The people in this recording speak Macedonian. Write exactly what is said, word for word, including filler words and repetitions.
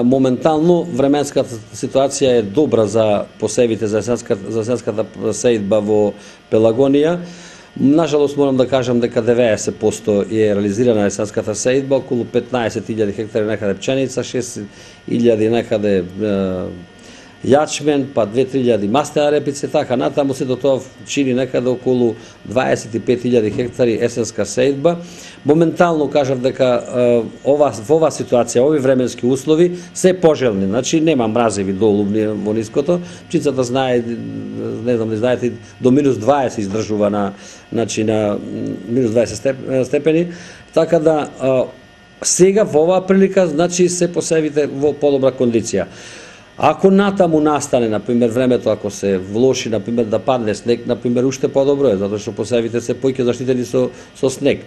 моментално временската ситуација е добра за посевите за есенската, за есенската сеидба во Пелагонија. Нажалост морам да кажам дека деветдесет проценти е реализирана есенската сеидба, околу петнаесет илјади хектари некаде пченица, шест илјади некаде јачмен, па две-три илјади маслена репица, така натаму се до тоа чини некаде околу дваесет и пет илјади хектари есенска сеидба. Моментално кажав дека ова во оваа ситуација, овие временски услови се пожелни, значи нема мразеви долубни во ниското. Пчицата знае, не знам, не знаете, до минус дваесет издржува на, значи на минус дваесет степени, така да сега во оваа прилика, значи се посевите во подобра кондиција. Ако натаму настане, например, времето, ако се влоши, например, да падне снег, например, уште подобро е, затоа што посевите се поќе заштитени со, со снег.